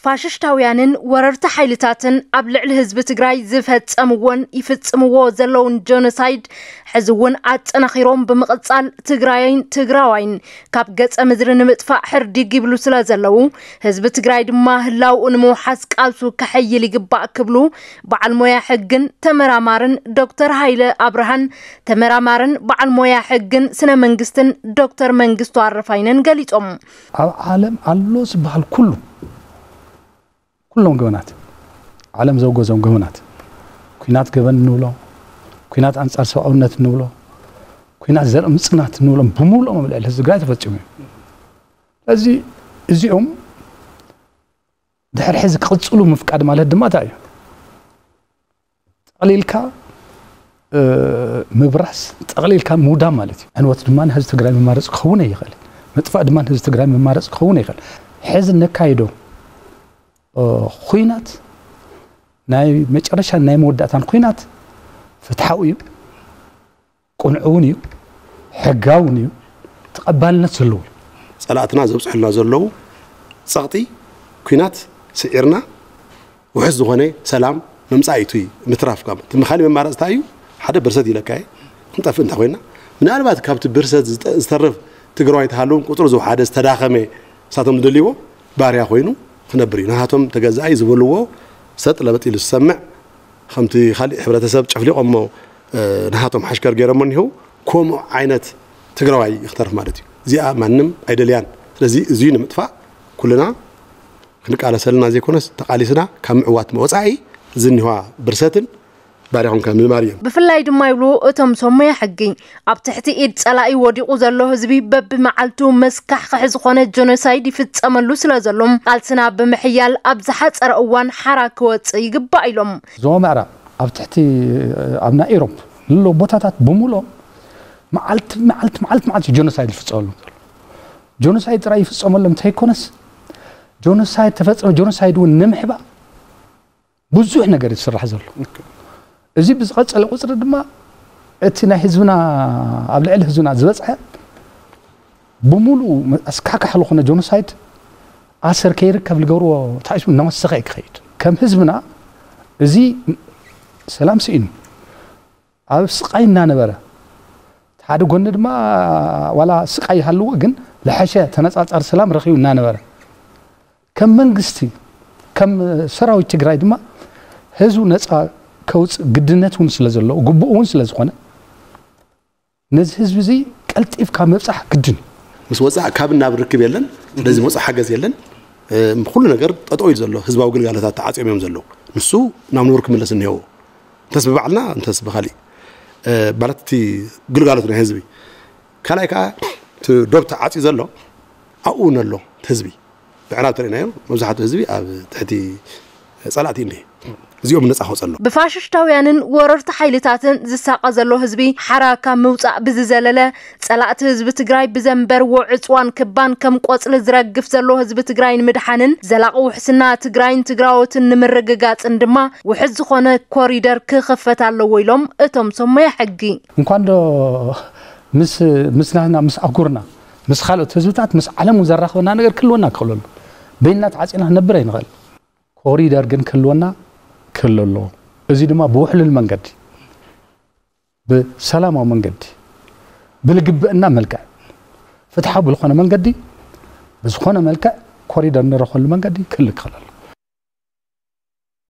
ፋሽስታውያንን ወረርቲ ሓይልታትን ኣብ ልዕሊ ህዝቢ ትግራይ ዝፈጸምዎን ይፍጽምዎ ዘለውን ጀኖሳይድ ሕዚ እውን ኣጠናኺሮም ብምቕጻል ትግራይን ትግራዋይን ካብ ገጸ ምድሪ ንምጥፋእ ሕርዲግ ይብሉ ስለ ዘለዉ፣ ህዝቢ ትግራይ ድማ ህላውኡ ንምውሓስ ቃልሱ ከሐይል ይግባእ ክብሉ በዓል ሞያ ሕግን ተመራማርን ዶክተር ሃይለ ኣብርሃን፣ ተመራማርን በዓል ሞያ ሕግን ስነ መንግስትን ዶክተር መንግስቱ ኣረፋይነን ገሊጾም። ኣብ ዓለም ኣሎ ዝበሃል ኩሉ፣ ኩሎም ገበናት፣ ዓለም ዘውገዞም ገበናት፣ ኩናት ገበን እንብሎ፣ ኩናት ኣንጻር ሰብኣውነት እንብሎ፣ ኩናት ዘርኢ ምጽናት እንብሎም ብምሉኦም ኣብ ልዕሊ ህዝቢ ትግራይ ተፈጺሙ እዩ። ስለዚ እዚኦም ድሕሪ ሕዚ ክቕጽሉ ምፍቃድ ማለት ድማ እንታይ እዩ? ጠቕሊልካ እ፣ ምብራስ፣ ጠቕሊልካ ምውዳም ማለት እዩ። ዕንወት ድማ ንህዝቢ ትግራይ መማረፂ ክኸውን ኣይኽእል። ምጥፋእ ድማ ንህዝቢ ትግራይ መማረፂ ክኸውን ኣይኽእል። ሕዚ ነካይዶ እ፣ ኹናት ናይ መጨረሻን ናይ መወዳእታን ኹናት ፍትሓዊ እዩ፣ ቅኑዕ እውን እዩ፣ ሕጋዊ እውን እዩ፣ ተቐባልነት ዘለዎ እዩ። ጸላእትና ዘብጽሑልና ዘለዉ ጸቕጢ ኲናት ስዒርና ውሑስ ዝኾነ ሰላም ምምጻእ እዩ እቲ ምትራፍ። ካብ እቲ ካሊእ መማረፂ እንታይ እዩ? ሓደ ብርሰት ኢለካ እየ፣ ክንጠፍእ እንተ ኮይና፣ ምናልባት ካብቲ ብርሰት ዝጠ-፣ ዝተርፍ ትግራዋይ እንተሃለዎም ቁፅሩ ዝወሓደ ዝተዳኸመ ንሳቶም ዝደልይዎ ባርያ ኮይኑ ክነብር እዩ። ንሃቶም ተገዛኢ ዝበልዎ ሰጥ ለበጥ ኢሉ ዝሰምዕ፣ ከምቲ ካሊእ ሕብረተሰብ ጨፍሊቖሞ፣ እ፣ ንሃቶም ሓሽከር ገይሮሞ እኒህው፣ ከምኡ ዓይነት ትግራዋይ ይክተርፍ ማለት እዩ። እዚኣ ማንም ኣይደልያን። ስለዚ እዙይ ንምጥፋእ ኩልና ክንቃለሰልና ዘይኮነስ ተቃሊስና ካብ ምዕዋት ወፃኢ ዝኒህዋ ብርሰትን ባርያ ኮንካ ምንባር እዮም። ብፍላይ ድማ ይብሉ እቶም ሰብ ሞያ ሕጊ፣ ኣብ ትሕቲ ኢድ ጸላኢ ወዲቑ ዘሎ ህዝቢ በብመዓልቱ መስካሕኽሒ ዝኾነ ጀኖሳይድ ይፍጸመሉ ስለ ዘሎ፣ ቃልስና ብምሕያል ኣብ ዝሓጸረ እዋን ሓራ ክወጽእ ይግባእ ኢሎም። ዞባ ምዕራብ ኣብ ትሕቲ፣ ኣብ ናይ ኢሮብ ዘሎ ቦታታት ብምሉኦም መዓልቲ፣ መዓልቲ፣ መዓልቲ፣ መዓልቲ ጀኖሳይድ ይፍጸመሎም ዘሎ። ጀኖሳይድ ጥራይ ይፍጸመሎም እንተይኮነስ፣ ጀኖሳይድ ተፈጸመ፣ ጀኖሳይድ እውን ንምሕባእ ብዙሕ ነገር ዝስራሕ ዘሎ። እዚ ብዝቐጸለ ቁጽሪ ድማ እቲ ናይ ህዝብና፣ ኣብ ልዕሊ ህዝብና ዝበጽሐ ብምሉኡ ኣስካካሕ ዝኾነ ጀኖሳይድ ኣሰር ከይርከብ ዝገብርዎ ተሓሲቡ እናወሰኸ እዩ ክኸይድ። ከም ህዝብና እዚ ሰላም ስኢኑ ኣብ ስቃይ እናነበረ፣ እቲ ሓደ ጎኒ ድማ ዋላ ስቃይ ይሃልዎ፣ ግን ዝሐሸ ተነጻጻሪ ሰላም ረኺቡ እናነበረ፣ ከም መንግስቲ፣ ከም ሰራዊት ትግራይ ድማ ህዝቡ ነጻ ከውፅእ ግድነት እውን ስለ ዘለዎ፣ ግቡእ እውን ስለ ዝኾነ፣ ነዚ ህዝቢ እዚ ቀልጢፍካ ምብጻሕ ግድን እዩ። ምስ ወፃእ ካብ ናብ ርክብ የለን። ስለዚ መፁ ሓገዝ የለን። እ፣ ኩሉ ነገር ጠጠው ኢሉ ዘሎ፣ ህዝባዊ ግልጋሎታት ተዓፅዮም እዮም ዘለዉ። ንሱ ናብ ንቡር ክምለስ እኒሄዎ። እንተስ ብባዕልና፣ እንተስ ብኻሊእ፣ እ፣ ማለት እቲ ግልጋሎት ናይ ህዝቢ። ካልኣይ ከዓ እቲ ዶብ ተዓፅዩ ዘሎ ኣብኡ እውን ኣሎ እቲ ህዝቢ። ብዕራብ ተሪእናዮ፣ መብዛሕትኡ ህዝቢ ኣብ ትሕቲ ጸላእቲ እንድየ። እዚኦም ነጻ ከውጸሎም። ብፋሽስታውያንን ወረርቲ ሓይልታትን ዝሳቐ ዘሎ ህዝቢ ሓራ ካብ ምውጻእ ብዝዘለለ፣ ጸላእቲ ህዝቢ ትግራይ ብዘንበርዎ ዕጽዋን ክባን ከም ቆጽሊ ዝረግፍ ዘሎ ህዝቢ ትግራይ ንምድሓንን ዘላቒ ውሕስና ትግራይን ትግራዎትን ንምርግጋጽን ድማ ውሑስ ዝኾነ ኮሪደር ክኽፈት ኣለዎ ኢሎም እቶም ሰብ ሞያ ሕጊ። እንኳን ዶ ምስ፣ ምስ ናህና፣ ምስ ኣህጉርና፣ ምስ ካልኦት ህዝብታት፣ ምስ ዓለም እውን ዘራኽበና ነገር ክህልወና ክኽእል ኣሎ። በይንና ተዓጺና ክንነብር ኣይንኽእል። ኮሪደር ግን ክህልወና ክህሉ ኣለዎ። እዚ ድማ ብውሕሉል መንገዲ፣ ብሰላማዊ መንገዲ፣ ብልግብእና መልክዕ፣ ፍትሓዊ ብዝኾነ መንገዲ፣ ብዝኾነ መልክዕ ኮሪደር ንረኽበሉ መንገዲ ክህሉ ክኽእል ኣሎ።